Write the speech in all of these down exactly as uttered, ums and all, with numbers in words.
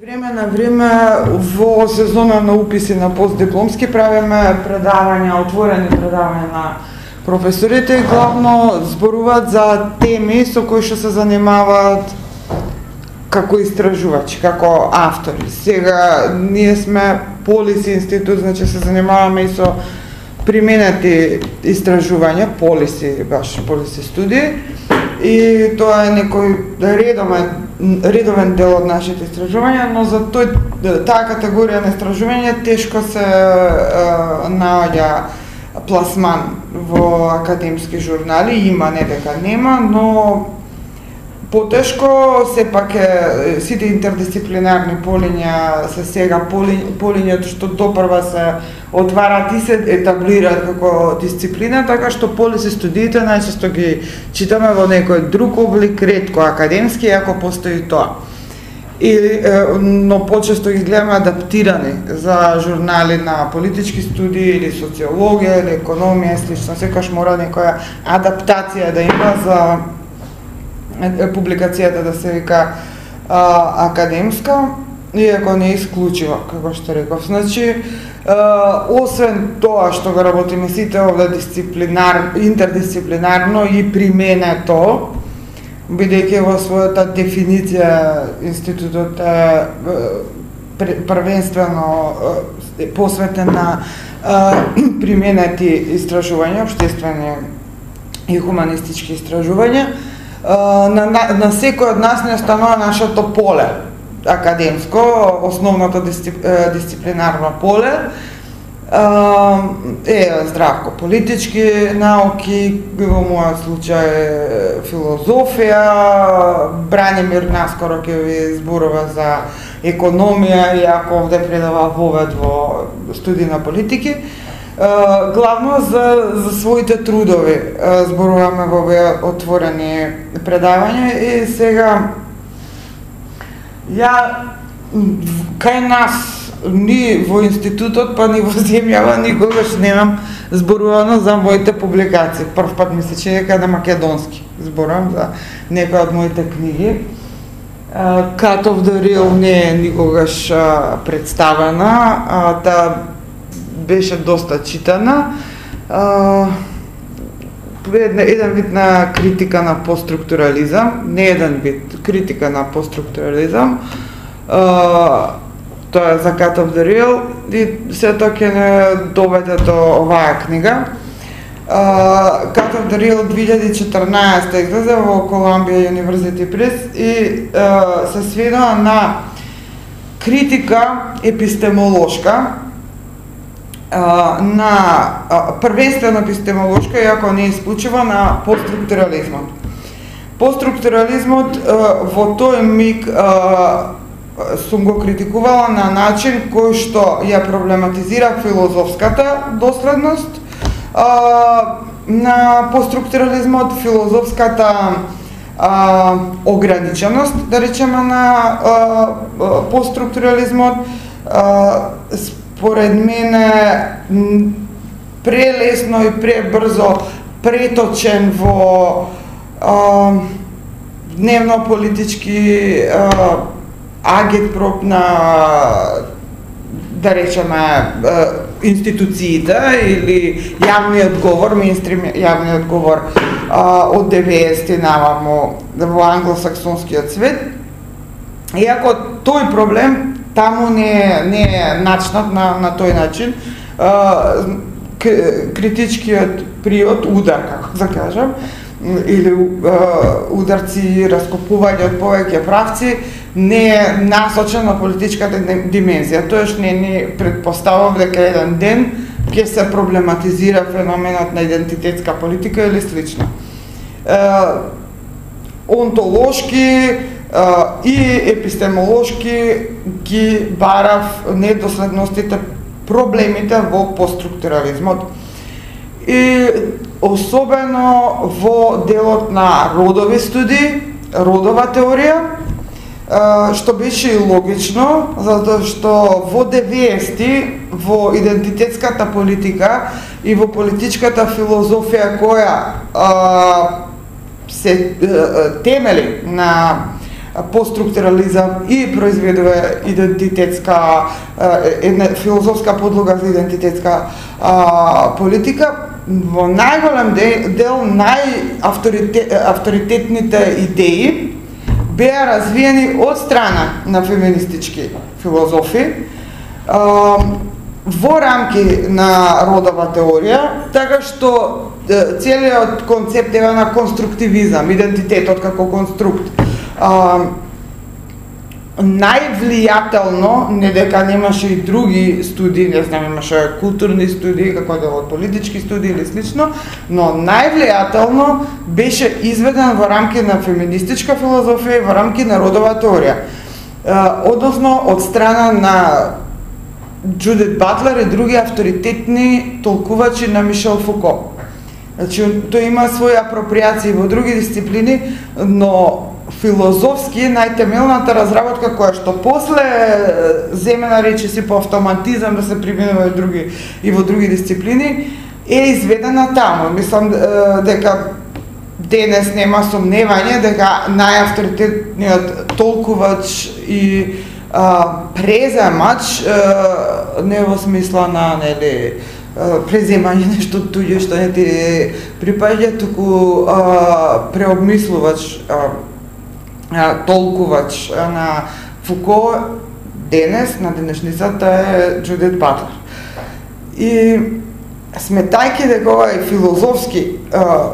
Време на време во сезона на уписи на постдипломски правиме предавања, отворени предавања на професорите и главно зборуваат за теми со кои што се занимаваат како истражувачи, како автори. Сега ние сме Полис институт, значи се занимаваме и со применети истражувања, полиси, баш полиси студии, и тоа е некој редовен редовен дел од нашите истражувања, но за тој таа категорија на истражување тешко се е, наоѓа пласман во академски журнали, има, не дека нема, но потешко сепак е сите интердисциплинарни полиња се сега полињата што допрва се отварат и се етаблираат како дисциплина, така што полиси студиите најчесто ги читаме во некој друг облик, ретко академски, ако постои тоа. И, но почесто ги гледаме адаптирани за журнали на политички студии или социологија или економија, слично, секогаш мора некоја адаптација да има за публикацијата да се вика а, академска, иако не е исклучива, како што реков. Значи, а, освен тоа што го работиме сите овде дисциплинар, интердисциплинарно и применето, бидејќи во својата дефиниција институтот е првенствено посветен на применети истражувања, општествени и хуманистички истражувања, на, на, на секој од нас не останува нашето поле академско, основното дисцип, дисциплинарно поле, е здравко политички науки, во мојот случај филозофија, Бранимир наскоро ќе ви зборува за економија, иако овде предава вовед во студии на политики. Главно за, за своите трудови зборуваме во овие отворени предавања и сега ја кај нас ни во институтот, па ни во земјава никогаш немам зборувано за моите публикации. Прв пат ми се чини дека на македонски зборувам за некои од моите книги. Cut of the Real не е никогаш представена, та беше доста читана. Еден вид на критика на постструктурализам, не еден вид, критика на постструктурализам. Тоа е за Cut of the Real и сето ќе не доведе до оваа книга. Cut of the Real две илјади и четрнаесетта излезе во Columbia University Press и се сведува на критика епистемолошка, на првенствено епистемолошка, иако не исклучува, на постструктурализмот. Постструктурализмот во тој миг сум го критикувала на начин кој што ја проблематизира филозофската доследност на постструктурализмот, филозофската а, ограниченост, да речеме, на а, постструктурализмот. А, според мене прелесно и пребрзо преточен во а, дневно-политички агитпроп на, да речеме, институциите или јавниот говор, мејнстрим јавниот говор од деветдесетти наваму во англосаксонскиот свет. Иако тој проблем таму не, не е начнат на, на тој начин, критичкиот приод, удар, како да кажам, или ударци, раскопување од повеќе правци, не е насочен на политичката димензија. Тоеш не ни предпоставува дека еден ден ќе се проблематизира феноменот на идентитетска политика или слично. Е, онтолошки е, и епистемолошки ги барав недоследностите, проблемите во постструктурализмот. И особено во делот на родови студии, родова теорија, што беше и логично, затоа што во деветдесетти во идентитетската политика и во политичката филозофија која а, се а, темели на постструктурализам и произведува идентитетска една филозофска подлога за идентитетска а, политика. Во најголем дел најавторитетните идеи беа развиени од страна на феминистички филозофи а, во рамки на родова теорија, така што целиот концепт е на конструктивизам, идентитетот како конструкт. А, највлијателно, не дека немаше и други студии, не знам, имаше културни студии, како дел од политички студии или слично, но највлијателно беше изведен во рамки на феминистичка филозофија и во рамки на родова теорија. А, односно, од страна на Џудит Батлер и други авторитетни толкувачи на Мишел Фуко. Значи, тој има своји апроприации во други дисциплини, но филозофски најтемелната разработка која што после земена речиси по автоматизам да се применува и други и во други дисциплини е изведена таму. Мислам дека денес нема сомневање дека најавторитетниот толкувач и а, преземач а, не во смисла на нели преземање нешто туѓе што не ти припаѓа, туку а, преобмислувач, а, а, толкувач на Фуко денес, на денешницата е Џудит Батлер. И сметајќи дека ова е филозофски а,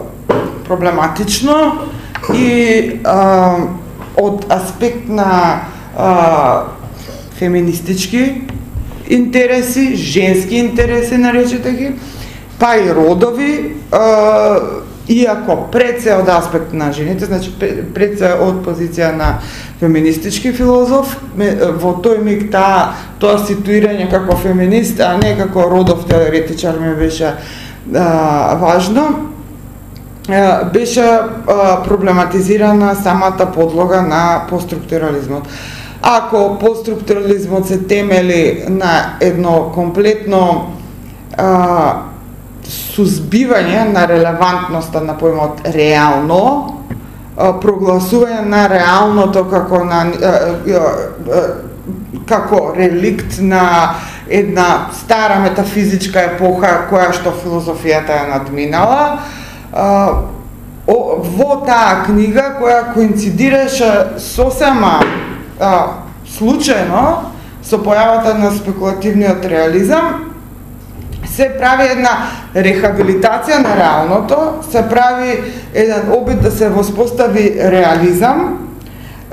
проблематично и а, од аспект на а, феминистички интереси, женски интереси, наречете ги, па и родови, а, иако пред се од аспект на жените, значи пред се од позиција на феминистички филозоф, во тој миг та, тоа ситуирање како феминист, а не како родов теоретичар ми беше а, важно, а, беше а, проблематизирана самата подлога на постструктурализмот. Ако постструктурализмот се темели на едно комплетно а, сузбивање на релевантноста на поимот реално, а, прогласување на реалното како на а, а, како реликт на една стара метафизичка епоха која што филозофијата е надминала, а, о, во таа книга која коинцидираше сосема А, случајно со појавата на спекулативниот реализам, се прави една рехабилитација на реалното, се прави еден обид да се воспостави реализам,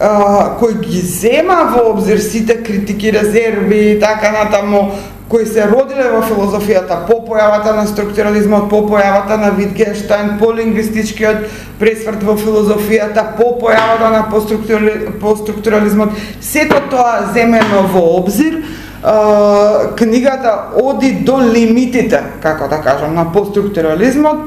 а, кој ги зема во обзир сите критики, резерви и така натаму, кои се родиле во филозофијата по појавата на структурализмот, по појавата на Витгенштајн, по лингвистичкиот пресврт во филозофијата, по појавата на постструктурализмот. Сето тоа земено во обзир, книгата оди до лимитите, како да кажам, на постструктурализмот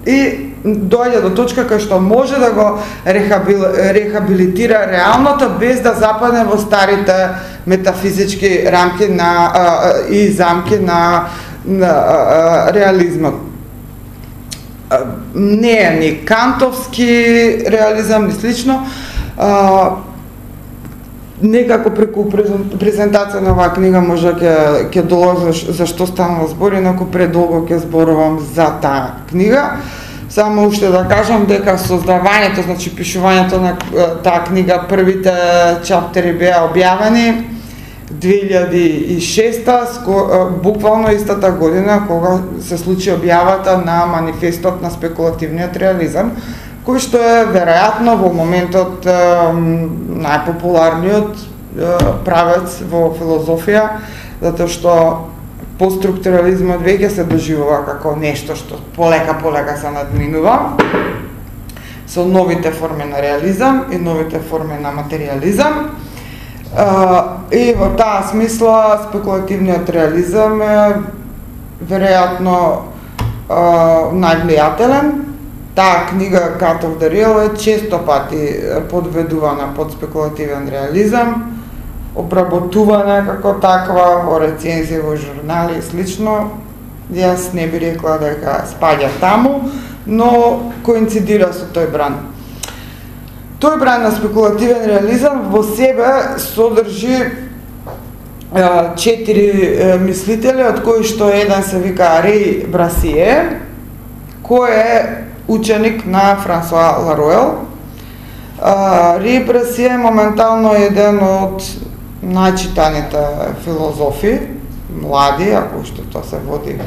и доаѓа до точка кај што може да го рехабил, рехабилитира реалното без да западне во старите метафизички рамки на а, и замки на, на а, реализмот. А, не е ни кантовски реализам, ни слично. А, некако преку презентација на оваа книга може ќе ќе долозиш зашто станува збор, инаку предолго ќе зборувам за таа книга. Само уште да кажам дека создавањето, значи пишувањето на таа книга, првите чаптери беа објавени две илјади и шеста, буквално истата година кога се случи објавата на манифестот на спекулативниот реализам, кој што е веројатно во моментот најпопуларниот правец во филозофија, затоа што постструктурализмот веќе се доживува како нешто што полека полека се надминува со новите форми на реализам и новите форми на материализам. И во таа смисла спекулативниот реализам е веројатно највлијателен. Таа книга Cut of the Real е често пати подведувана под спекулативен реализам, обработувана како таква во рецензии во журнали и слично. Јас не би рекла дека спаѓа таму, но коинцидира со тој бранд. Тој бран на спекулативен реализам во себе содржи четири мислители, од кои што еден се вика Реј Брасие, кој е ученик на Франсуа Ларуел. Реј Брасие моментално е еден од најчитаните филозофи, млади, ако што тоа се води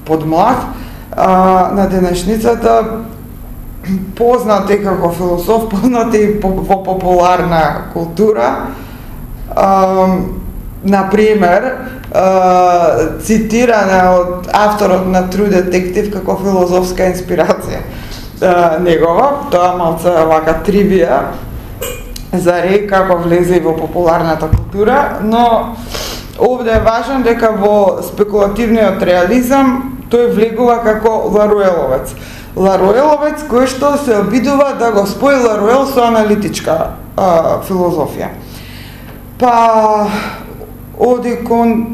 под млад, на денешницата, познат е како философ, познат е и во популарна култура. Например, цитирана од авторот на True Detective како филозофска инспирација негова, тоа малце вака тривија за Реј како влезе во популарната култура, но овде е важно дека во спекулативниот реализам тој влегува како Ларуеловец. Ларуеловец кој што се обидува да го спои Ларуел со аналитичка а, филозофија. Па оди кон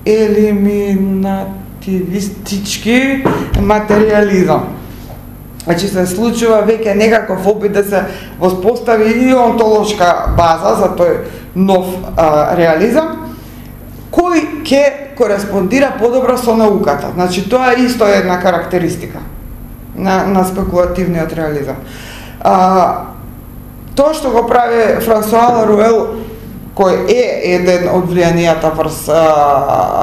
елиминативистички материализам. Значи се случува веќе некаков опит да се воспостави и онтолошка база за тој нов а, реализам, кој ќе кореспондира подобро со науката. Значи тоа е исто една карактеристика на, на спекулативниот реализам. А, тоа што го прави Франсуа Ларуел, кој е еден од влијанијата врз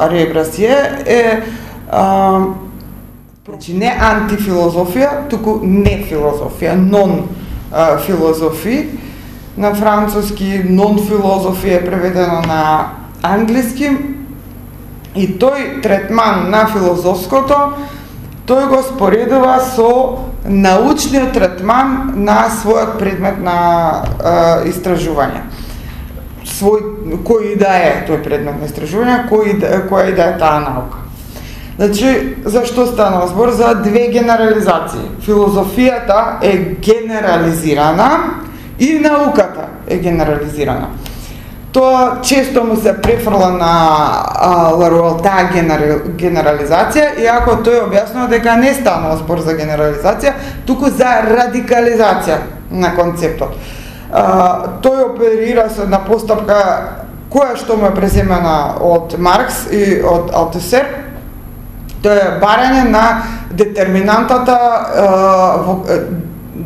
Реј Брасие, е а, значи не антифилозофија, туку не филозофија, нон а, филозофи. На француски нон филозофи е преведено на англиски, и тој третман на филозофското, тој го споредува со научниот третман на својот предмет на а, истражување. Свој, кој да е тој предмет на истражување, кој, која и да е таа наука. Значи, зашто станува збор? За две генерализации. Филозофијата е генерализирана и науката е генерализирана. Тоа често му се префрла на Ларуел таа генерализација, иако тој објаснува дека не станува збор за генерализација, туку за радикализација на концептот. А, тој оперира со една постапка која што му е преземена од Маркс и од Алтусер. Тоа е барање на детерминантата а, во,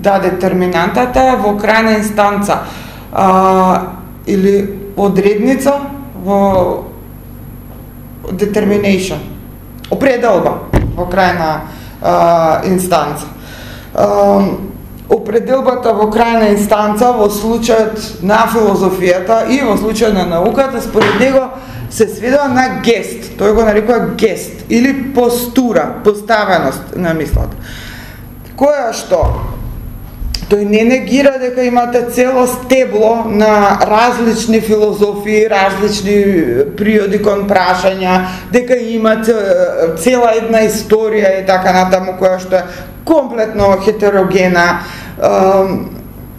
да детерминантата во крајна инстанца а, или одредница во determination, определба во крајна а, инстанца. А, определбата во крајна инстанца во случајот на филозофијата и во случајот на науката, според него се сведува на гест, тој го нарекува гест или постура, поставеност на мислата. Која што тој не негира дека имате цело стебло на различни филозофии, различни приоди кон прашања, дека има цела една историја и така натаму, која што е комплетно хетерогена,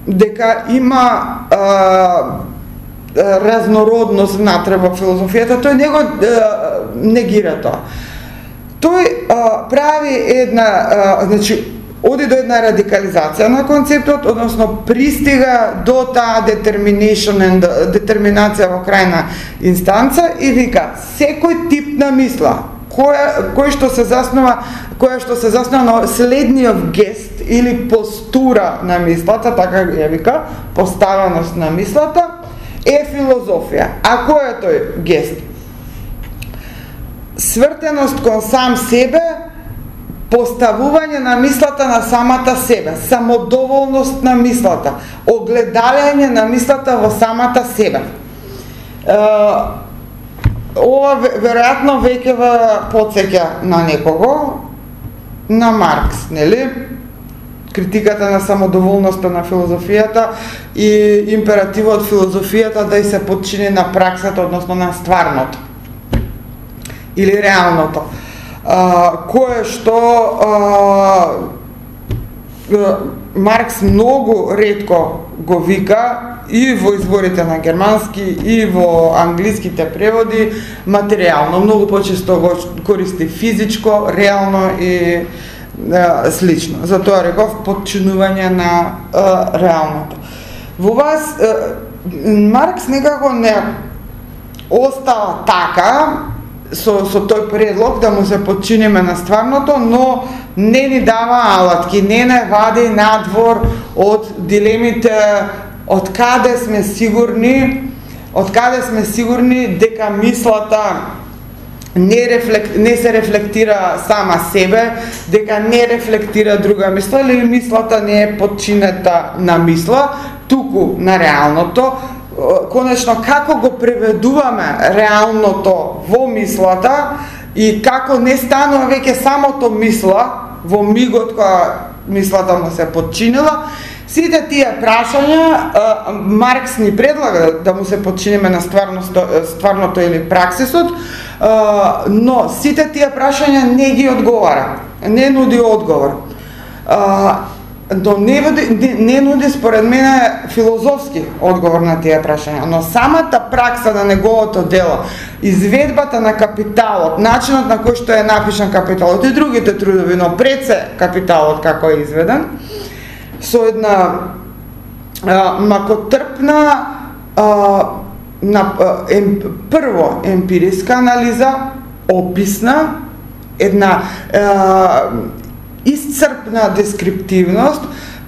дека има разнородност внатре во филозофијата, тој не го негира тоа. Тој прави една, значи, оди до една радикализација на концептот, односно пристига до таа детерминација во крајна инстанца и вика, секој тип на мисла, која, кој што се заснова, која што се заснова на следниот гест или постура на мислата, така ја вика, поставеност на мислата, е филозофија. А кој е тој гест? Свртеност кон сам себе, поставување на мислата на самата себе, самодоволност на мислата, огледалене на мислата во самата себе. Ова веројатно веќе ве потсеќа на некого, на Маркс, нели? Критиката на самодоволноста на филозофијата и императивот филозофијата да и се подчини на праксата, односно на стварното или реалното. Uh, кое што uh, Маркс многу ретко го вика и во изворите на германски и во англиските преводи материјално, многу почесто го користи физичко, реално и слично. Затоа реков подчинување на е, реалното. Во вас е, Маркс некако не остава така со, со тој предлог да му се подчиниме на стварното, но не ни дава алатки, не не вади надвор од дилемите од каде сме сигурни, од каде сме сигурни дека мислата не, рефлек, не се рефлектира сама себе, дека не рефлектира друга мисла, или мислата не е подчинета на мисла, туку на реалното. Конечно, како го преведуваме реалното во мислата и како не станува веќе самото мисла во мигот кога мислата му се подчинила, сите тие прашања Маркс ни предлага да му се подчиниме на стварното, стварното или праксисот, но сите тие прашања не ги одговара, не нуди одговор. Но не, не, не нуди според мене филозофски одговор на тие прашања, но самата пракса на неговото дело, изведбата на Капиталот, начинот на кој што е напишан Капиталот и другите трудови, но пред се Капиталот како е изведен, со една а, макотрпна а, на, ем, прво емпириска анализа, описна, една а, исцрпна дескриптивност,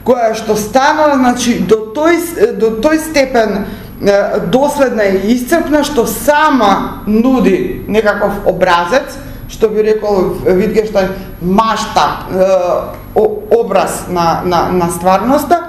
која што станува, значи, до тој, до тој степен доследна и исцрпна, што сама нуди некаков образец, што би рекол Витгенштајн, маштаб, образ на, на, на стварноста,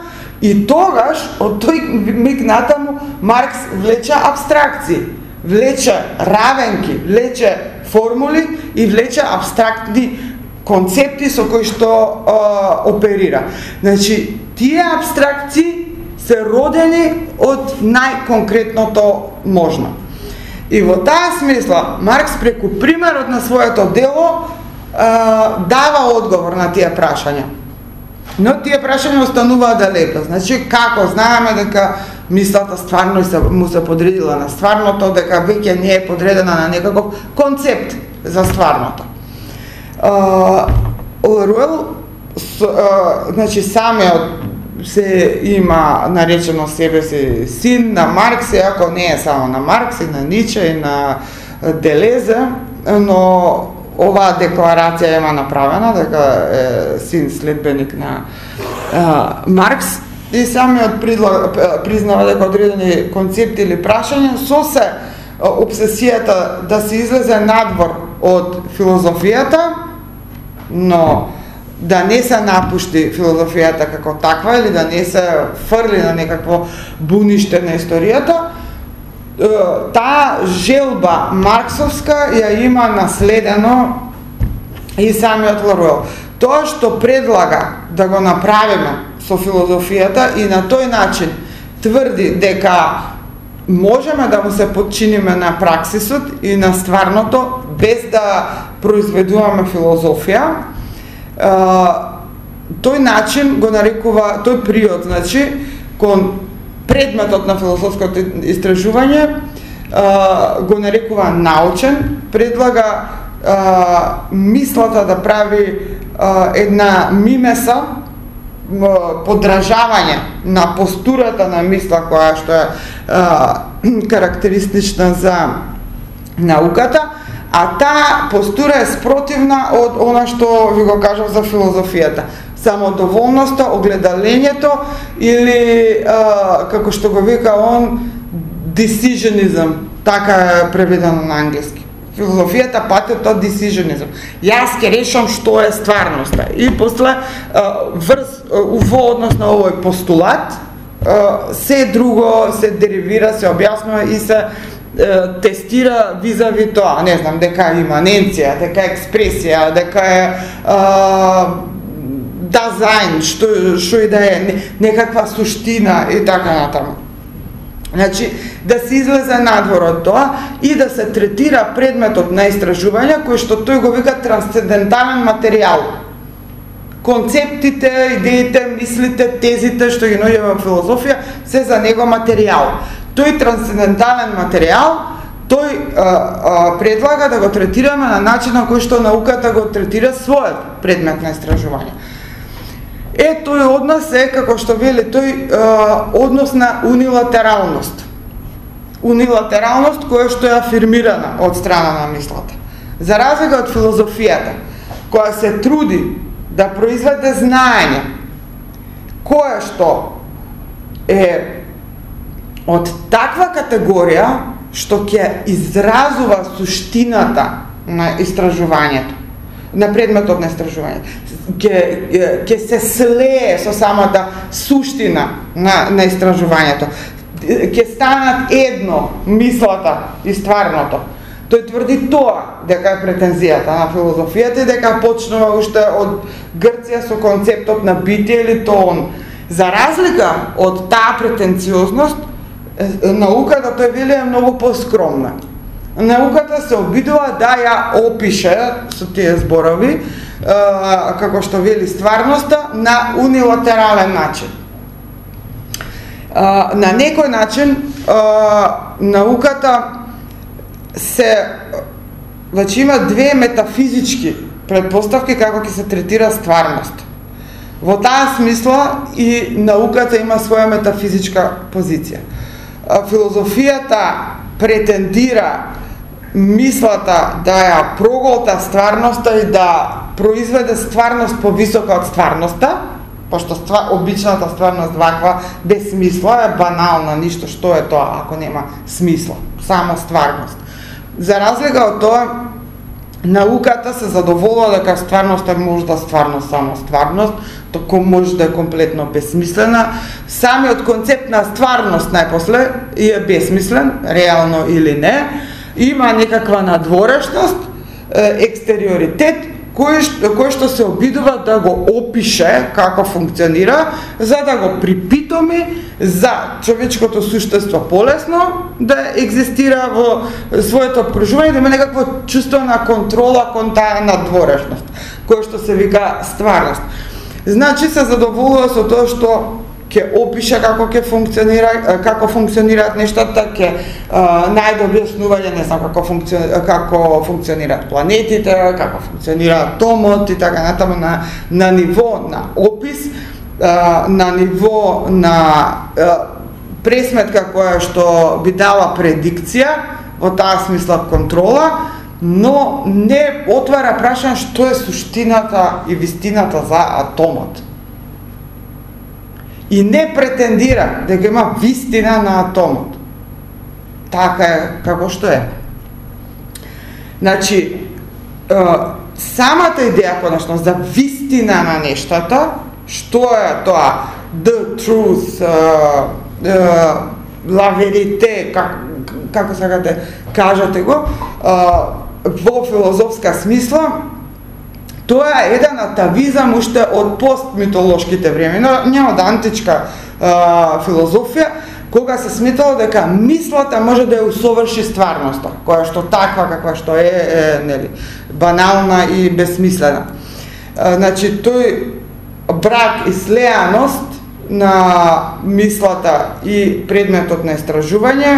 и тогаш, од тој миг натаму, Маркс влече абстракции, влече равенки, влече формули и влече абстрактни концепти со кои што а, оперира. Значи, тие абстракции се родени од најконкретното можно. И во таа смисла, Маркс преку примерот на своето дело а, дава одговор на тие прашања. Но тие прашања остануваат далеко. Значи, како знаеме дека мислата стварно се, му се подредила на стварното, дека веќе не е подредена на некаков концепт за стварното. Оруел, значи самиот се има наречено себе си син на Маркс, иако не е само на Маркс, и на Ниче, и на Делезе, но оваа декларација има направена, дека е син следбеник на а, Маркс, и самиот признава дека одредени концепти или прашања со се обсесијата да се излезе надвор од филозофијата, но да не се напушти филозофијата како таква или да не се фрли на некакво буниште на историјата, таа желба марксовска ја има наследено и самиот Ларуел. Тоа што предлага да го направиме со филозофијата и на тој начин тврди дека можеме да му се подчиниме на праксисот и на стварното без да произведуваме филозофија, тој начин го нарекува, тој приод, значи, кон предметот на филозофското истражување го нарекува научен, предлага мислата да прави една мимеса, подражавање на постурата на мисла која што е а, карактеристична за науката, а таа постура е спротивна од она што ви го кажав за филозофијата. Самодоволноста, огледалењето или а, како што го вика он, decisionism, така е преведено на англиски. Филозофијата патет од decisionism. Јас ќе решам што е стварноста. И после врз во однос на овој постулат се друго се деривира, се објаснува и се тестира визави тоа, не знам, дека е иманенција, дека е експресија, дека е дизајн, што што и да е, некаква суштина и така натаму. Значи, да се излезе надвор од тоа и да се третира предметот на истражување, кој што тој го вика трансцендентален материјал. Концептите, идеите, мислите, тезите што ги наоѓаме во филозофија се за него материјал. Тој трансцендентален материјал тој а, а, предлага да го третираме на начин на кој што науката го третира својот предмет на истражување. Е, тој однос е, како што вели тој, а, однос на унилатералност. Унилатералност која што е афирмирана од страна на мислата. За разлика од филозофијата, која се труди да произведе знаење, кое што е од таква категорија што ќе изразува суштината на истражувањето, на предметот на истражување, ќе ќе се слее со самата суштина на на истражувањето, ќе станат едно мислата и стварното. Тој тврди тоа дека е претензијата на филозофијата и дека почнува уште од Грција со концептот на битие или тоон. За разлика од таа претенциозност, науката, тој вели, е многу поскромна. Науката се обидува да ја опише со тие зборови, како што вели стварноста, на унилатерален начин. На некој начин науката се значи има две метафизички предпоставки како ќе се третира стварност. Во таа смисла и науката има своја метафизичка позиција. Филозофијата претендира мислата да ја проголта стварноста и да произведе стварност повисока од стварноста, пошто ства, обичната стварност ваква без смисла е банална, ништо што е тоа ако нема смисла, само стварност. За разлика од тоа, науката се задоволува дека стварноста може да стварно само стварност, току може да е комплетно безсмислена. Самиот концепт на стварност најпосле е безсмислен, реално или не, има некаква надворешност, екстериоритет, кој што, кој што се обидува да го опише како функционира, за да го припитоми за човечкото суштество полесно да екзистира во своето обкружување, да има некакво чувство на контрола кон таа надворешност, кој што се вика стварност. Значи се задоволува со тоа што ќе опише како ќе функционира, како функционираат нештата, ќе најде објаснување, не знам како функционира, како функционираат планетите, како функционира атомот и така натаму на на ниво на опис, на ниво на пресметка која што би дала предикција, во таа смисла контрола, но не отвара прашање што е суштината и вистината за атомот. И не претендира дека има вистина на атомот. Така е како што е. Значи, самата идеја конечно за вистина на нештата, што е тоа the truth, la verite, как, како сакате кажете го, во филозофска смисла, тоа е еден атавизам уште од постмитолошките времена, не од античка а, филозофија, кога се сметало дека мислата може да ја усоврши стварноста, која што таква каква што е, е нели, банална и безсмислена. А, значи, тој брак и слеаност на мислата и предметот на истражување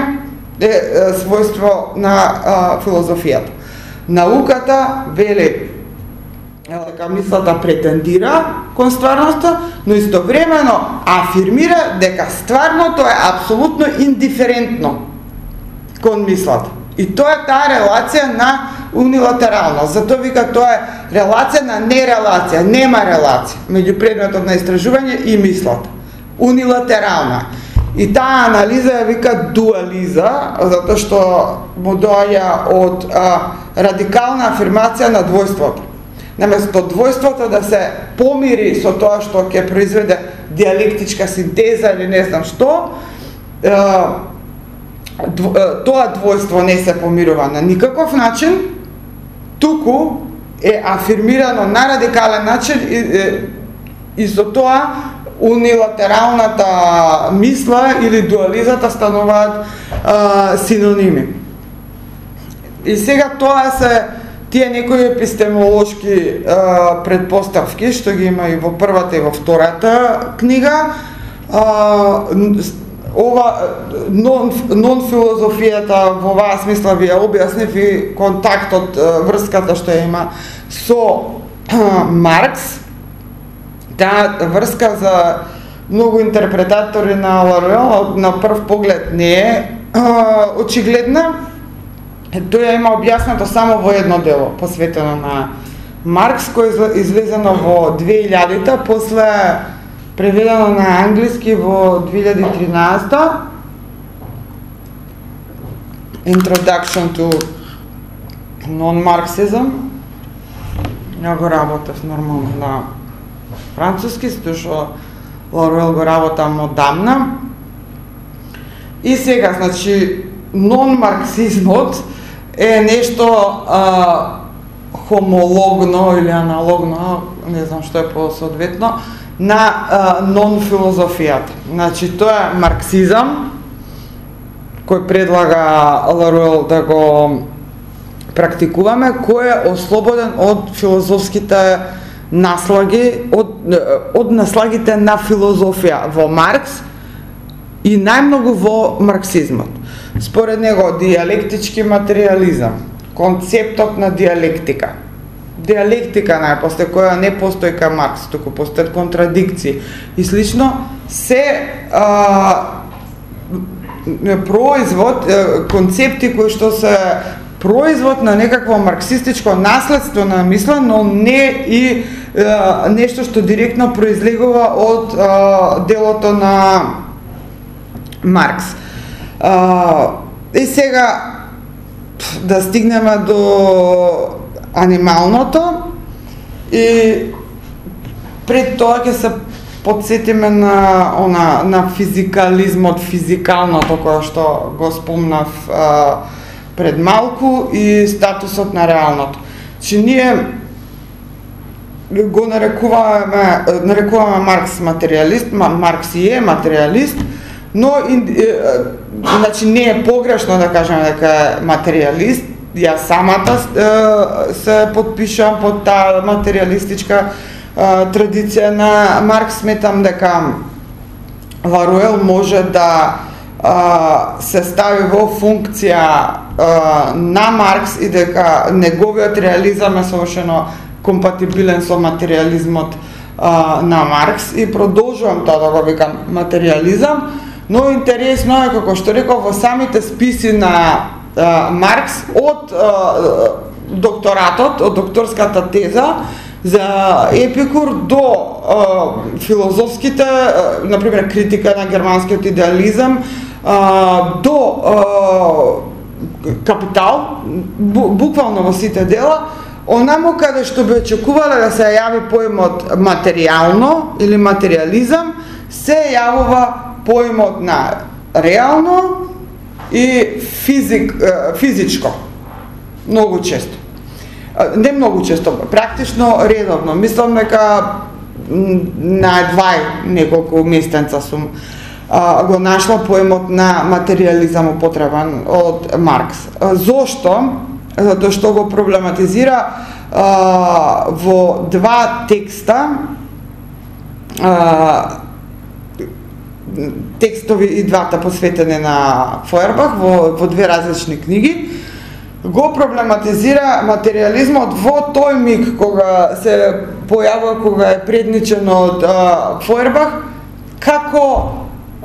е, е својство на а, филозофијата. Науката вели дека мислата претендира кон стварноста, но истовремено афирмира дека стварното е апсолутно индиферентно кон мислата. И тоа е таа релација на унилатералност. Затоа вика тоа е релација на нерелација, нема релација меѓу предметот на истражување и мислата. Унилатерална. И таа анализа ја вика дуализа, затоа што му доаѓа од а, радикална афирмација на двојството. Наместо двојството да се помири со тоа што ќе произведе диалектичка синтеза или не знам што, тоа двојство не се помирува на никаков начин, туку е афирмирано на радикален начин и, и со тоа унилатералната мисла или дуализата стануваат а, синоними. И сега тоа се тие некои епистемолошки а, предпоставки, што ги има и во првата и во втората книга, а, ова нон, нон филозофијата во оваа смисла ви ја објаснив и контактот, врската што ја има со Маркс. Таа врска за многу интерпретатори на Ларуел на прв поглед не е очигледна. Тој ја има објаснато само во едно дело посветено на Маркс, кој е излезено во две илјадите, после преведено на англиски во две илјади и тринаесета. Introduction to Non-Marxism. Ја го работев нормално на француски, затоа што Ларуел го работам одамна. И сега, значи, нон-марксизмот е нешто а, хомологно или аналогно, не знам што е по-соодветно, на а, нон-филозофијата. Значи, тоа е марксизам, кој предлага Ларуел да го практикуваме, кој е ослободен од филозофските наслаги, од, од наслагите на филозофија во Маркс и најмногу во марксизмот. Според него диалектички материализам, концептот на диалектика, диалектика најпосте која не постои кај Маркс, туку постојат контрадикции и слично, се а, производ, концепти кои што се производ на некакво марксистичко наследство на мисла, но не и е, нешто што директно произлегува од е, делото на Маркс. Е, и сега да стигнеме до анималното и пред тоа ќе се подсетиме на она на физикализмот, физикалното кое што го спомнав а, пред малку и статусот на реалното. Че ние го нарекуваме, нарекуваме Маркс материалист, Маркс и е материалист, но и, е, значи не е погрешно да кажеме дека е материалист. Ја самата е, се подпишам под таа материалистичка е, традиција на Маркс. Сметам дека Ларуел може да е, се стави во функција е, на Маркс и дека неговиот реализам е совршено компатибилен со материализмот е, на Маркс и продолжувам тоа да го викам материализам, но интересно е како што реков во самите списи на Uh, Маркс од uh, докторатот, од докторската теза за Епикур до uh, филозофските, uh, например критика на германскиот идеализам, uh, до uh, Капитал, бу, буквално во сите дела, онамо каде што би очекувале да се јави поимот материјално или материализам, се јавува поимот на реално и физик, физичко, многу често. Не многу често, практично редовно. Мислам дека на двај неколку местенца сум а, го нашла поемот на материализам употребен од Маркс. Зошто? Затоа што го проблематизира а, во два текста, а, текстови и двата посветени на Фойербах во, во две различни книги, го проблематизира материализмот во тој миг кога се појавува, кога е предничен од Фойербах, како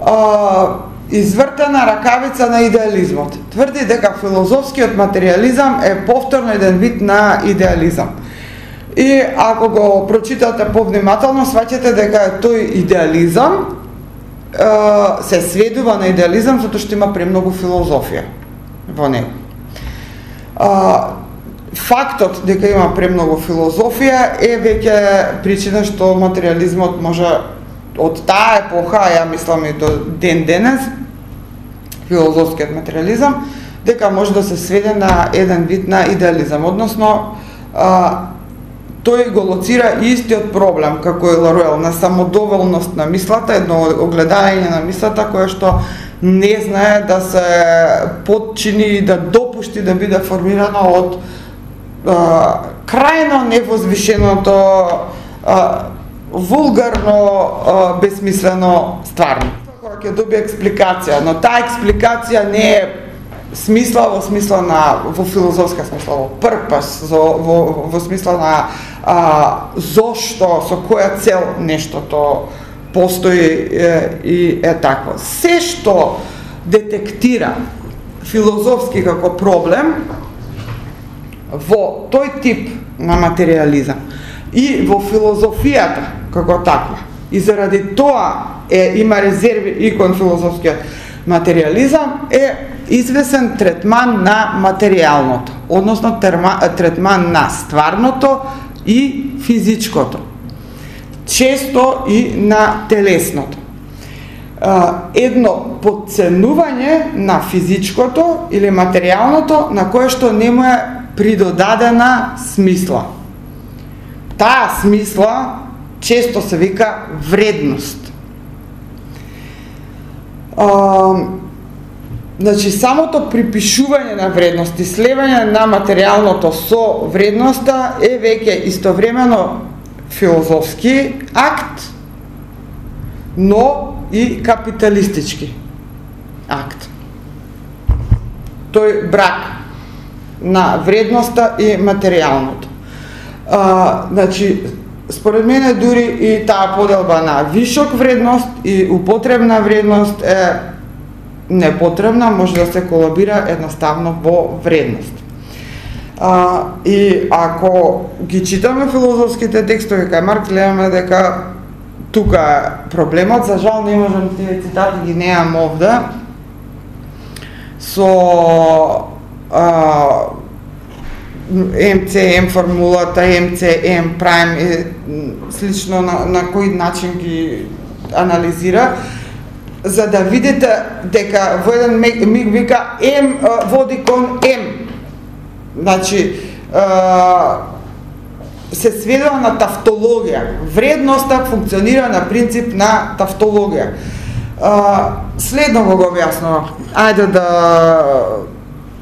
а, извртена ракавица на идеализмот. Тврди дека филозофскиот материализам е повторно еден вид на идеализам. И ако го прочитате повнимателно, сваќате дека тој идеализам се сведува на идеализам затоа што има премногу филозофија во него. Фактот дека има премногу филозофија е веќе причина што материализмот може од таа епоха, ја мислам и до ден денес, филозофскиот материализам, дека може да се сведе на еден вид на идеализам, односно тој го лоцира истиот проблем, како и Ларуел, на самодоволност на мислата, едно огледање на мислата, кое што не знае да се подчини и да допушти да биде формирано од а, крајно невозвишеното, а, вулгарно, а, безсмислено стварно. тоа ќе добие експликација, но таа експликација не е смисла во смисла на во филозофска смисла, во purpose, во во, во смисла на а, зошто, со која цел нештото постои е, и е такво. Се што детектира филозофски како проблем во тој тип на материализам и во филозофијата како таква, и заради тоа е има резерви и кон филозофскиот материализам, е извесен третман на материјалното, односно терма, третман на стварното и физичкото, често и на телесното. Едно подценување на физичкото или материјалното на кое што не му е придодадена смисла. Таа смисла често се вика вредност. А, значи, самото припишување на вредност и слевање на материјалното со вредноста е веќе истовремено филозофски акт, но и капиталистички акт. Тој брак на вредноста и материјалното. А, значи, според мене дури и таа поделба на вишок вредност и употребна вредност е непотребна, може да се колабира едноставно во вредност. А, и ако ги читаме филозофските текстови кај Маркс, гледаме дека тука е проблемот. За жал не можам тие цитати ги неам овде. Со а, М Ц М формулата, М Ц М прайм и слично на, на кој начин ги анализира, за да видите дека во еден миг вика М води кон М. Значи, а, се сведува на тавтологија. Вредноста функционира на принцип на тавтологија. А, следно го го објаснува. Ајде да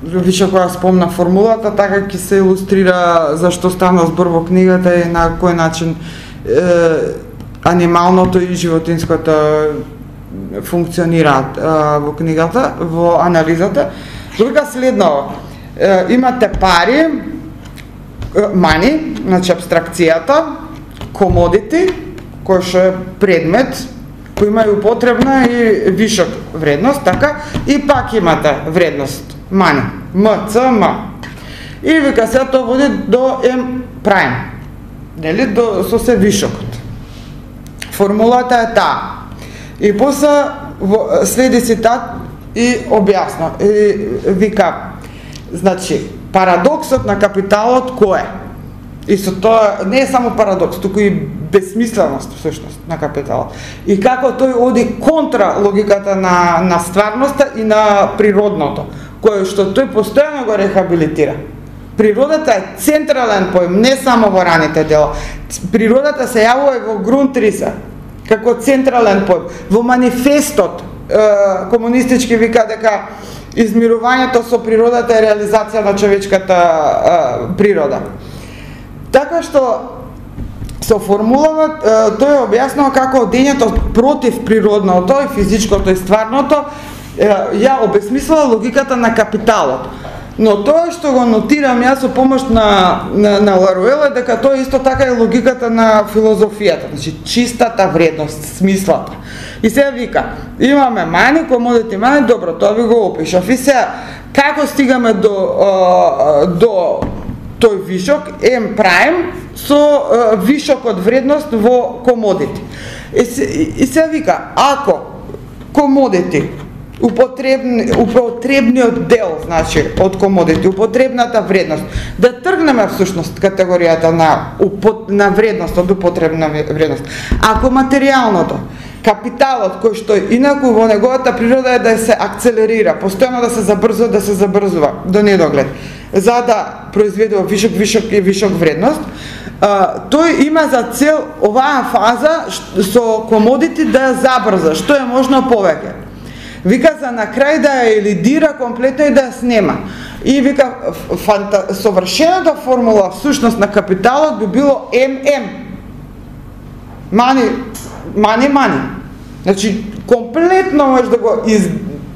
више кога спомна формулата, така ќе се илустрира зашто стана збор во книгата и на кој начин е, анималното и животинското функционираат во книгата, во анализата. Друга следно, е, имате пари, мани, значи абстракцијата, комодити, кој што е предмет, кој има и употребна и вишок вредност, така, и пак имате вредност, мани, М, Ц, М. И вика се тоа води до М прайм, нели, до, со се вишокот. Формулата е таа. И после следи цитат и објасна, и вика, значи, парадоксот на капиталот кој е? И со тоа не е само парадокс, туку и безсмисленост всушност на капиталот. И како тој оди контра логиката на, на стварноста и на природното, кое што тој постојано го рехабилитира. Природата е централен поим, не само во раните дела. Природата се јавува и во Грунтриса, како централен поим. Во манифестот е, комунистички вика дека измирувањето со природата е реализација на човечката е, природа. Така што со формулава тој објаснува како дењето против природното и физичкото и стварното ја обесмислува логиката на капиталот. Но тоа што го нотирам јас со помош на, на, на Ларуел е дека тоа исто така е логиката на филозофијата, значи чистата вредност, смислата. И сега вика, имаме мани, комодити мани, добро, тоа ви го опишав. И сега, како стигаме до, а, до тој вишок, М прайм, со а, вишокот вредност во комодити. И, и сега вика, ако комодити, употребни, употребниот дел, значи, од комодити, употребната вредност, да тргнеме всушност категоријата на, на вредност, од употребна вредност. Ако материјалното, капиталот кој што инаку во неговата природа е да се акцелерира, постојано да се забрзува, да се забрзува до недоглед, за да произведува вишок, вишок и вишок вредност, а, тој има за цел оваа фаза со комодити да ја забрза, што е можно повеќе. Вика за на крај да ја елидира комплетно и да ја снема. И вика фанта... совршената формула всушност на капиталот би било М М. Мани, мани, мани. Значи, комплетно можеш да го из,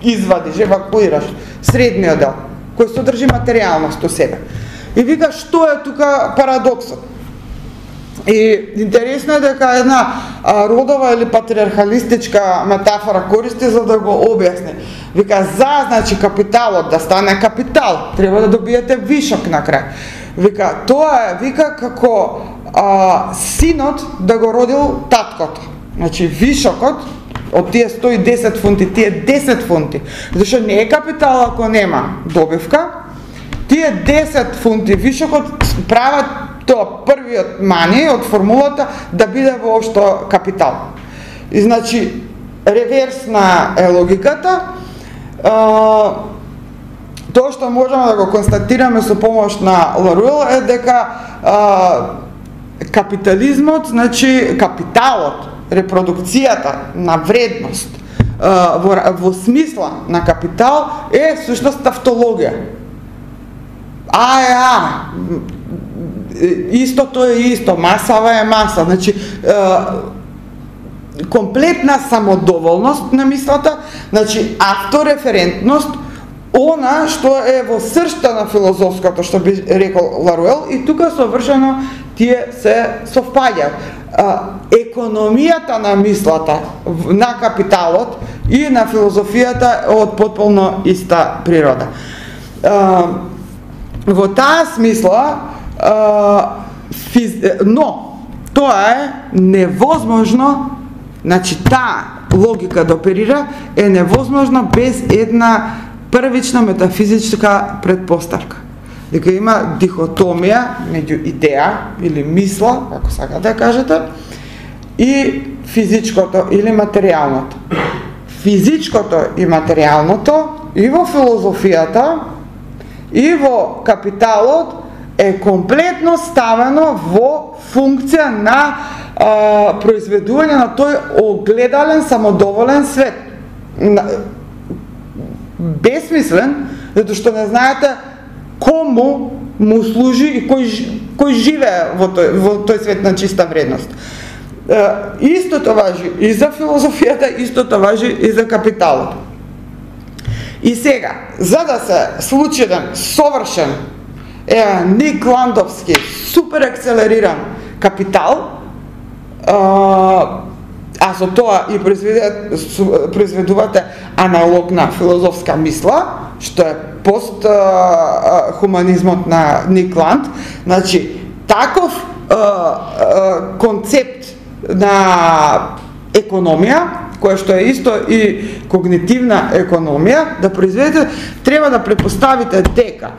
извадиш, евакуираш средниот дел, кој содржи материјалност у себе. И вика, што е тука парадоксот? И интересно е дека една а, родова или патриархалистичка метафора користи за да го објасни. Вика, за, значи, капиталот да стане капитал, треба да добиете вишок на крај. Вика, тоа е, вика, како а, синот да го родил таткото. Значи, вишокот од тие сто и десет фунти, тие десет фунти, зашто не е капитал ако нема добивка, тие десет фунти вишокот прават тоа првиот мани од формулата да биде воопшто капитал. И значи, реверсна е логиката, а, тоа што можеме да го констатираме со помош на Ларуел е дека а, капитализмот, значи капиталот, репродукцијата на вредност а, во, во смисла на капитал е сушност тавтологија. А е а, истото е исто, масава е маса, значи а, комплетна самодоволност на мислата, значи автореферентност, она што е во сршта на филозофското, што би рекол Ларуел, и тука совршено тие се совпаѓаат. Економијата на мислата на капиталот и на филозофијата од потполно иста природа. А, во таа смисла, а, физ... но тоа е невозможно, значи таа логика да оперира е невозможно без една првична метафизичка предпоставка. Дека има дихотомија меѓу идеја или мисла, како сакате да кажете, и физичкото или материјалното. Физичкото и материјалното и во филозофијата и во капиталот е комплетно ставено во функција на а, произведување на тој огледален, самодоволен свет. Бесмислен, затоа што не знаете кому му служи и кој, кој живее во тој, во тој свет на чиста вредност. Е, истото важи и за филозофијата, истото важи и за капиталот. И сега, за да се случи еден совршен, е, Ник Ландовски, супер акселериран капитал, е, а со тоа и произведувате аналогна филозофска мисла, што е пост а, а, хуманизмот на Ник Ланд, значи таков а, а, концепт на економија, која што е исто и когнитивна економија, да произведете, треба да предпоставите дека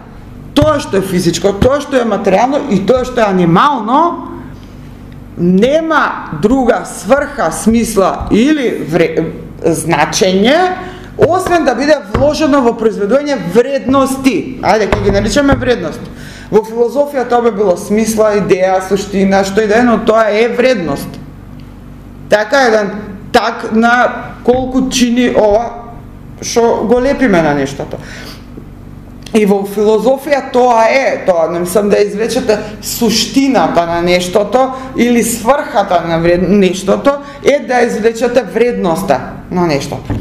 тоа што е физичко, тоа што е материјално и тоа што е анимално нема друга сврха, смисла или вре... значење, освен да биде вложено во произведување вредности. Ајде, ќе ги наричаме вредност. Во филозофија тоа би било смисла, идеја, суштина, што и да е, но тоа е вредност. Така еден так на колку чини ова што го лепиме на нештото. И во филозофија тоа е, тоа не мислам да извлечете суштината на нештото или сврхата на вред... нештото, е да извлечете вредноста на нештото.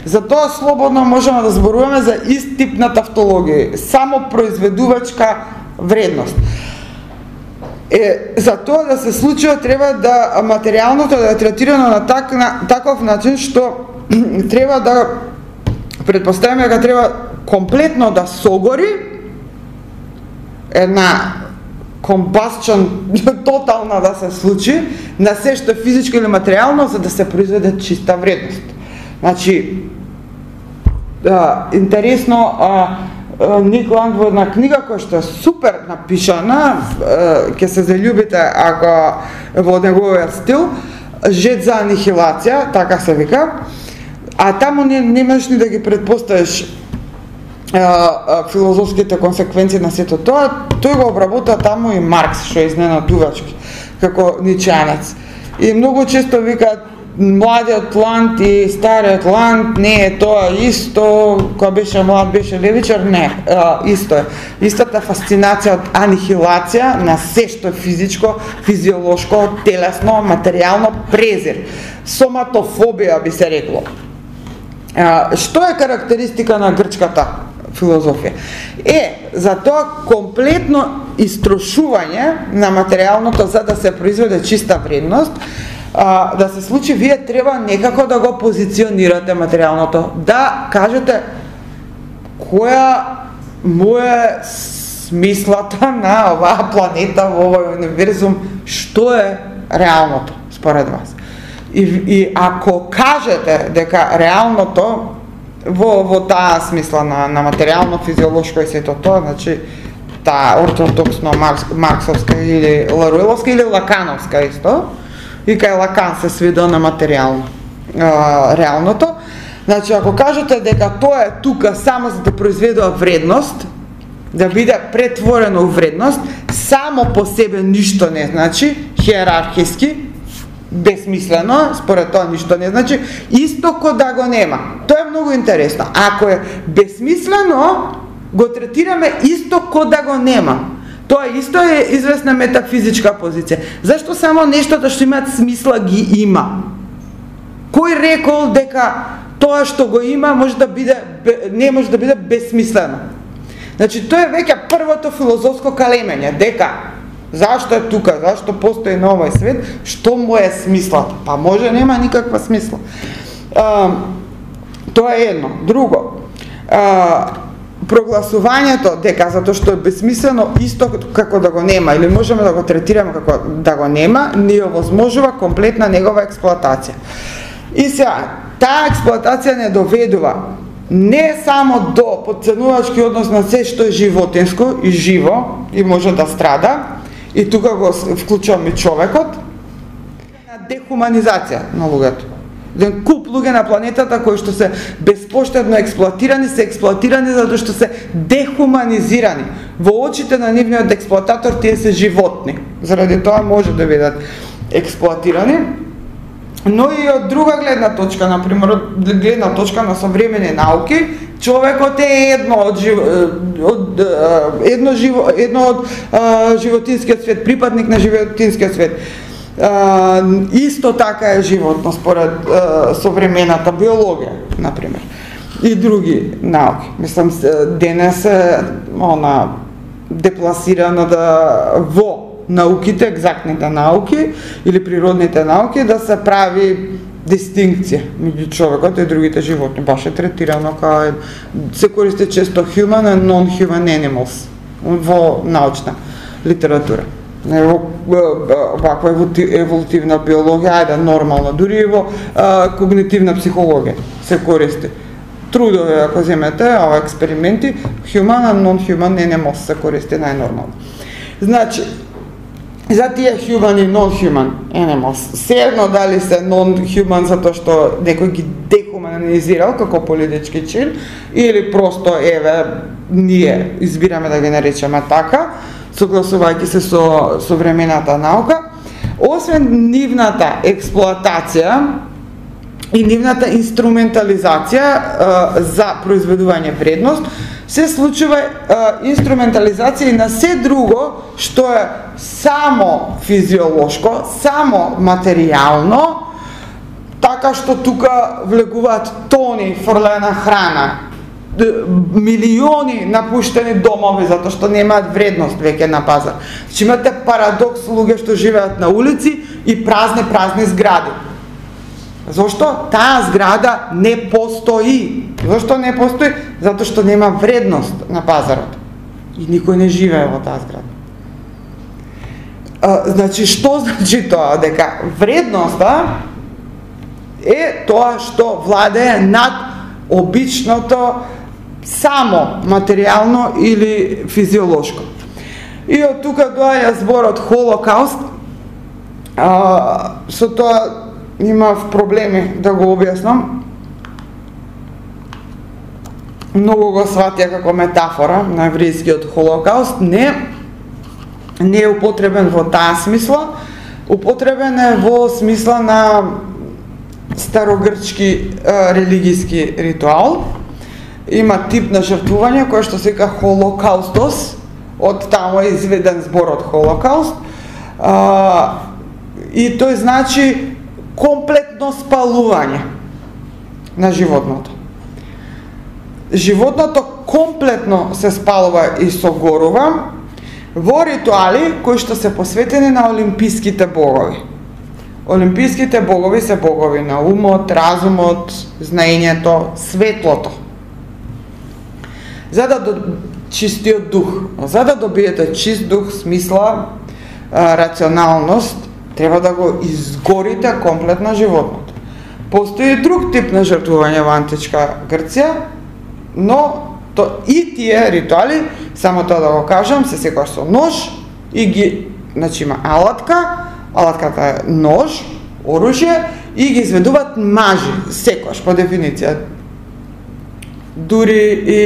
Затоа слободно можеме да зборуваме за ист тип на тавтологија, само произведувачка вредност. Е, за тоа да се случи треба да материјалното да е третирано на, так, на таков начин што треба да предпоставиме дека треба комплетно да согори една комбасчон тотална да се случи на се што е физичко или материјално за да се произведе чиста вредност. Значи, а, интересно, а, а, Ник Ланд во една книга која што е супер напишана, ќе се заљубите ако во неговиот стил, Жет за анихилација, така се вика, а таму не, не можеш ни да ги предпоставиш а, а, филозофските консеквенции на сето тоа. Тој го обработа таму и Маркс, што е изненадувачки, како ничеанец. И многу често вика, младиот ланд и стариот ланд не е тоа исто, кога беше млад беше левичар, не, а, исто е. Истата фасцинација од анихилација на се што е физичко, физиолошко, телесно, материјално, презир. Соматофобија би се рекло. А, што е карактеристика на грчката филозофија? Е, за тоа комплетно истрошување на материјалното за да се произведе чиста вредност, а, да се случи, вие треба некако да го позиционирате материјалното, да кажете која му е смислата на оваа планета, во овој универзум, што е реалното според вас. И, и ако кажете дека реалното во, во таа смисла на, на материјално, физиолошко и сето тоа, значи таа ортодоксно марксовска или ларуеловска или лакановска исто, и кај Лакан се сведува на материјално а, реалното. Значи ако кажете дека тоа е тука само за да произведува вредност, да биде претворено у вредност, само по себе ништо не значи, хиерархиски, безсмислено, според тоа ништо не значи, исто ко да го нема. Тоа е многу интересно. Ако е безсмислено, го третираме исто ко да го нема. Тоа исто е известна метафизичка позиција. Зашто само нештото што имаат смисла ги има? Кој рекол дека тоа што го има може да биде, не може да биде безсмислено? Значи тоа е веќе првото филозофско калемење, дека зашто е тука, зашто постои на овој свет, што му е смислата? Па може нема никаква смисла. А, тоа е едно. Друго, а, прогласувањето дека затоа што е безсмислено исто како да го нема или можеме да го третираме како да го нема, ни овозможува комплетна негова експлоатација. И сега, таа експлоатација не доведува не само до потценувачки однос на се што е животинско и живо и може да страда, и тука го вклучувам и човекот, на дехуманизација на луѓето. Еден куп луѓе на планетата кои што се безпоштедно експлоатирани, се експлоатирани затоа што се дехуманизирани. Во очите на нивниот експлоататор тие се животни. Заради тоа може да бидат експлоатирани. Но и од друга гледна точка, например, од гледна точка на современи науки, човекот е едно од, жив... од едно, живо... едно од а, животинскиот свет, припадник на животинскиот свет. Uh, исто така е животно според uh, современата биологија, например, и други науки. Мислам, денес е она депласирано да во науките, екзактните науки или природните науки да се прави дистинкција меѓу човекот и другите животни. Баш е третирано као се користи често human and non-human animals во научна литература. Ваква еволутивна биологија, ајде нормална, дури и во а, когнитивна психологија се користи. Трудови, ако земете, ова експерименти, human and non-human animals се користи најнормално. Значи, за тие human и non-human animals, се дали се non-human затоа што некој ги дехуманизирал како политички чин, или просто, еве, ние избираме да ги наречеме така, согласувајќи се со современата наука, освен нивната експлоатација и нивната инструментализација а, за произведување вредност, се случува а, инструментализација и на се друго што е само физиолошко, само материјално, така што тука влегуваат тони фрлена храна, милиони напуштени домови затоа што немаат вредност веќе на пазар. Значи имате парадокс луѓе што живеат на улици и празни празни згради. Зошто? Таа зграда не постои. Зошто не постои? Затоа што нема вредност на пазарот. И никој не живее во таа зграда. А, значи што значи тоа? Дека вредноста е тоа што владее над обичното само материјално или физиолошко. И од тука доаѓа зборот Холокауст. А, со тоа имав проблеми да го објаснам. Многу го сватија како метафора на еврејскиот Холокауст. Не, не е употребен во таа смисла. Употребен е во смисла на старогрчки е, религијски ритуал. Има тип на жртвување кој што се вика холокаустос, од таму е изведен зборот холокауст. А, и тој значи комплетно спалување на животното. Животното комплетно се спалува и согорува во ритуали кои што се посветени на олимписките богови. Олимписките богови се богови на умот, разумот, знаењето, светлото. За да до... чистиот дух, за да добиете чист дух, смисла, рационалност, треба да го изгорите комплетно животното. Постои друг тип на жртвување во античка Грција, но то и тие ритуали, само тоа да го кажам, се секојаш со нож и ги, значи има алатка, алатката е нож, оружје и ги изведуваат мажи, секојаш по дефиниција. Дури и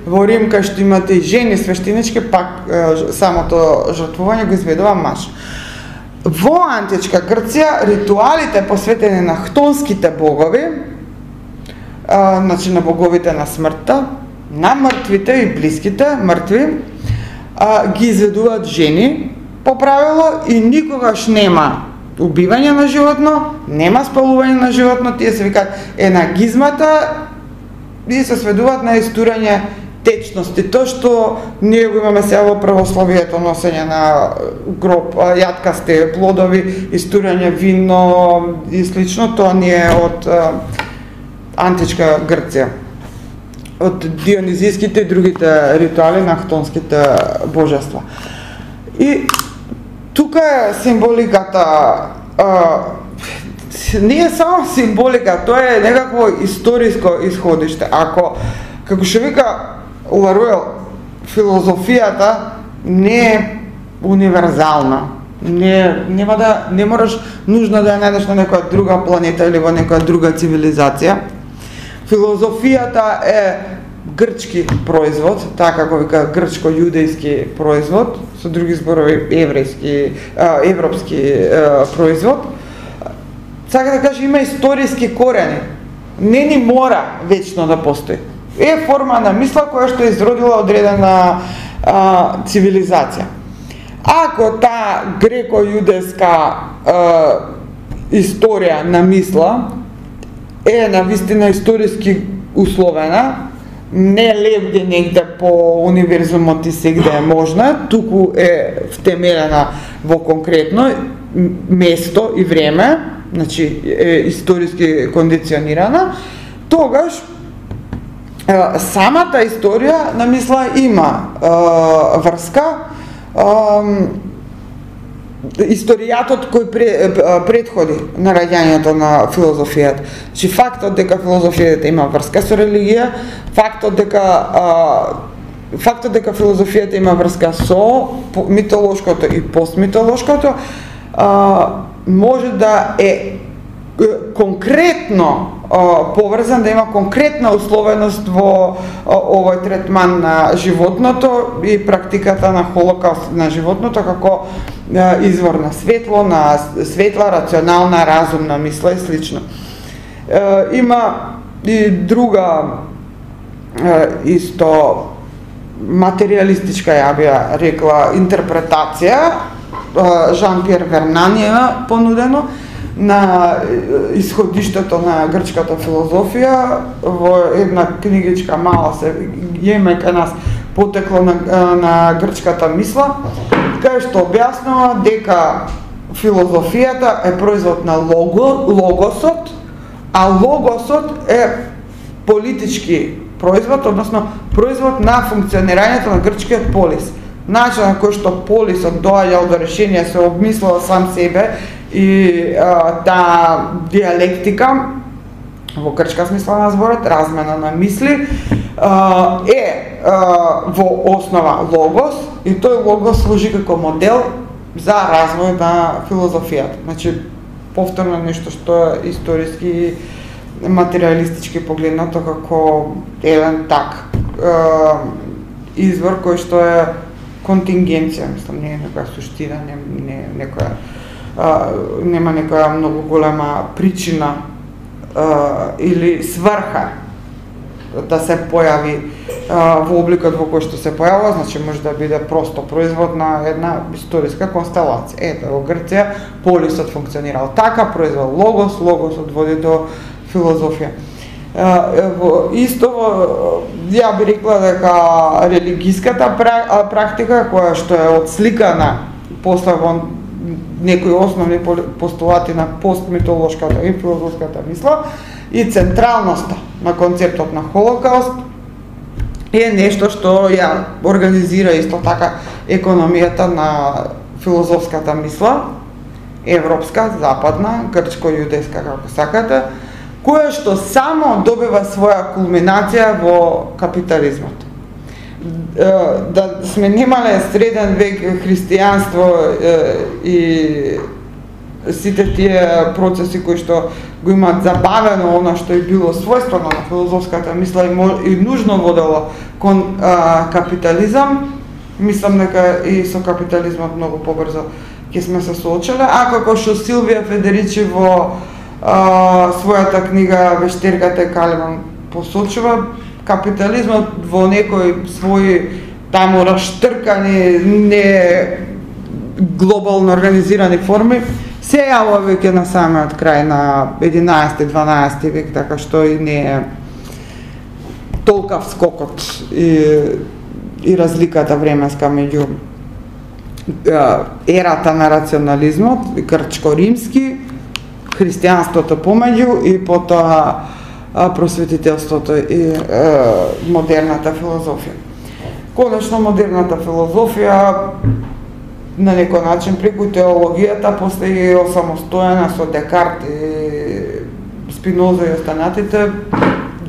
во Рим кај што имате и жени свештенички, пак е, самото жртвување го изведува маж. Во античка Грција ритуалите посветени на хтонските богови, е, значи на боговите на смртта, на мртвите и блиските мртви, е, ги изведуваат жени по правило и никогаш нема убивање на животно, нема спалување на животно, тие се викаат енагизмата, и се сведуваат на истурање течности. Тоа што ние го имаме сега во православието, носење на гроб, јаткасти плодови, истурање вино и слично, тоа не е од а, античка Грција. Од дионизиските и другите ритуали на хтонските божества. И тука е символиката, а, не е само символика, тоа е некакво историско исходиште. Ако, како што вика Ларуел, филозофијата не е универзална. Не, нема да, не мораш нужно да ја најдеш на некоја друга планета или во некоја друга цивилизација. Филозофијата е грчки производ, така како вика грчко-јудејски производ, со други зборови еврејски, европски производ. Сака да кажа, има историски корени. Не ни мора вечно да постои. Е форма на мисла која што е изродила одредена а, цивилизација. Ако таа греко-јудејска историја на мисла е на вистина историски условена, не лебди негде по универзумот и сегде е можна, туку е втемелена во конкретно место и време, значи е историски кондиционирана, тогаш е, самата историја на мисла има е, врска, е, историјатот кој предходи нараѓањето на филозофијата. Значи фактот дека филозофијата има врска со религија, фактот дека а, фактот дека филозофијата има врска со митолошкото и постмитолошкото, а, може да е конкретно а, поврзан, да има конкретна условеност во а, овој третман на животното и практиката на холокауст на животното како а, извор на светло, на светла, рационална, разумна мисла и слично. А, има и друга а, исто материјалистичка, ја би ја рекла, интерпретација, Жан-Пиер Вернан е понудено, на исходиштето на грчката филозофија во една книгичка мала се јеме кај нас потекло на, на грчката мисла, кај што објаснува дека филозофијата е производ на лого, логосот, а логосот е политички производ, односно производ на функционирањето на грчкиот полис. Начинот на кој што полисот доаѓал до решение, се обмислува сам себе и а, таа диалектика, во грчка смисла на зборот, размена на мисли, а, е а, во основа логос и тој логос служи како модел за развој на филозофијата. Значи, повторно нешто што е историски материјалистички погледнато како еден так а, извор кој што е контингенција, мислам, не е некоја суштина, не, не е некоја, а, нема некоја многу голема причина или сврха да се појави а, во обликот во кој што се појавува, значи може да биде просто производ на една историска констелација. Ето, во Грција полисот функционирал така, произвел логос, логосот води до филозофија. А, во исто, ја би рекла дека религиската практика, која што е отсликана после во некои основни постулати на постмитолошката и филозофската мисла, и централноста на концептот на Холокауст е нешто што ја организира исто така економијата на филозофската мисла, европска, западна, грчко-јудејска, како сакате, која што само добива своја кулминација во капитализмот. Да сме немале среден век христијанство и сите тие процеси кои што го имаат забавено она што е било својствено на филозофската мисла и, и нужно водело кон а, капитализам, мислам дека и со капитализмот многу побрзо ќе сме се соочиле, а како што Силвија Федеричи во а, својата книга Вештерката и Калиман посочува, капитализмот во некои своји таму раштркани, не глобално организирани форми се јавува веќе на самиот крај на единаесети-дванаесети век, така што и не е толкав скокот и, и разликата временска меѓу ерата на рационализмот, грчко-римски, христијанството помеѓу и потоа просветителството и е, модерната филозофија. Конечно, модерната филозофија на некој начин преку теологијата после е осамостоена со Декарт и Спиноза и останатите,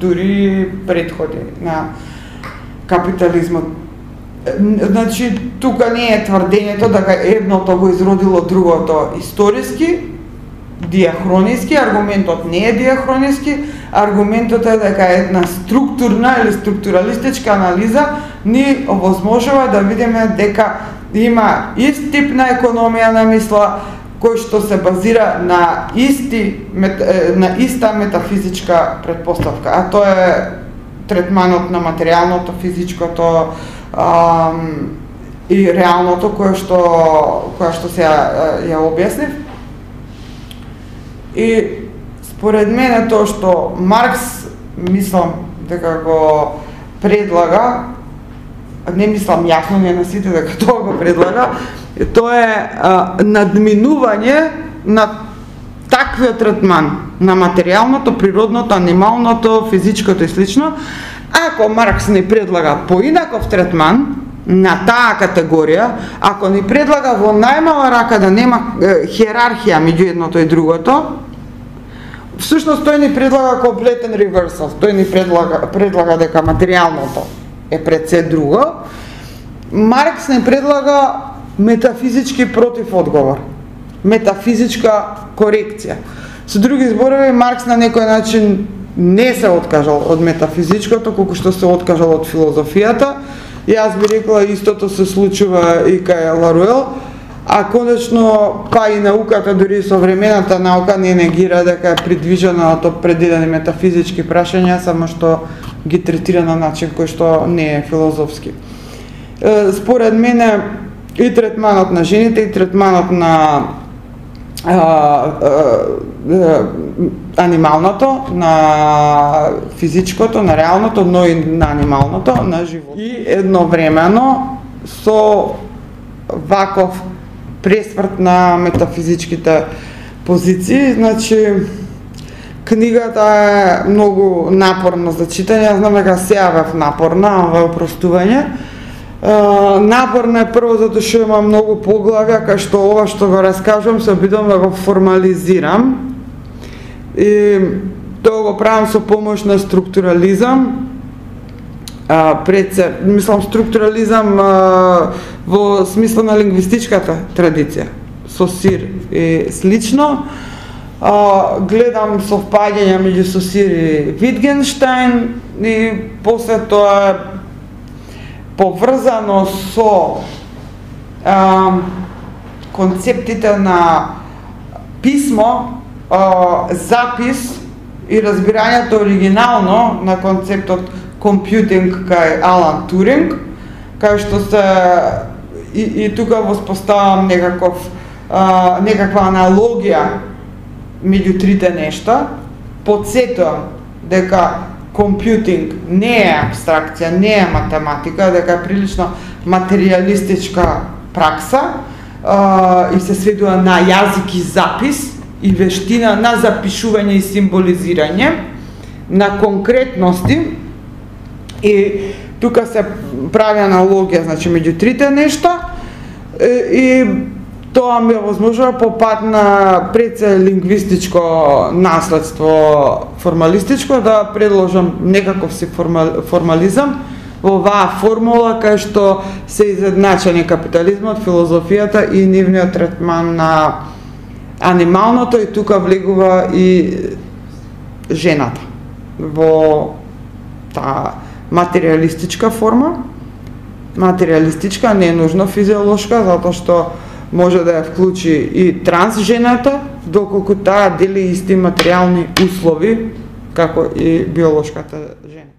дури предходи на капитализмот. Значи, тука не е тврдењето дека едното го изродило другото историски, диахрониски, аргументот не е диахрониски, аргументот е дека една структурна или структуралистичка анализа ни овозможува да видиме дека има ист тип на економија на мисла кој што се базира на исти на иста метафизичка претпоставка, а тоа е третманот на материјалното, физичкото ам, и реалното кое што која што се ја, ја објаснив. И според мене тоа што Маркс, мислам дека го предлага, не мислам јасно, не на сите дека тоа го предлага, тоа е а, надминување на таквиот третман на материјалното, природното, анималното, физичкото и слично. Ако Маркс ни предлага поинаков третман на таа категорија, ако ни предлага во најмала рака да нема е, хиерархија меѓу едното и другото, всушност тој ни предлага комплетен реверсал. Тој ни предлага, предлага дека материјалното е пред се друго. Маркс не предлага метафизички против одговор, метафизичка корекција. Со други зборови, Маркс на некој начин не се откажал од метафизичкото, колку што се откажал од филозофијата. Јас би рекла истото се случува и кај Ларуел, а конечно па и науката, дури современата наука не негира дека е придвижена од определени метафизички прашања, само што ги третира на начин кој што не е филозофски. Според мене и третманот на жените, и третманот на а, а, анималното, на физичкото, на реалното, но и на анималното, на живот. И едновремено со ваков пресврт на метафизичките позиции, значи книгата е многу напорна за читање, знам дека се јавев напорна, ова е опростување. Uh, напорно е прво затоа што има многу поглавја, кај што ова што го раскажувам се обидам да го формализирам и тоа го правам со помош на структурализам. Uh, пред се, мислам структурализам uh, во смисла на лингвистичката традиција, Сосир и слично. Uh, гледам совпаѓања меѓу Сосир и Витгенштајн и после тоа поврзано со а, концептите на писмо, а, запис и разбирањето оригинално на концептот компјутинг кај Алан Туринг, кај што се и, и тука воспоставам некаков а, некаква аналогија меѓу трите нешта. Потсетувам дека компјутинг не е абстракција, не е математика, дека е прилично материјалистичка пракса а, и се сведува на јазик и запис и вештина на запишување и символизирање, на конкретности, и тука се прави аналогија, значи, меѓу трите нешта, и тоа ми овозможува по пат на преце лингвистичко наследство формалистичко да предложам некаков си формализам во оваа формула кај што се изедначени капитализмот, филозофијата и нивниот третман на анималното, и тука влегува и жената во таа материјалистичка форма. Материјалистичка, не е нужно физиолошка, затоа што може да ја вклучи и транс жената, доколку таа дели исти материјални услови како и биолошката жена.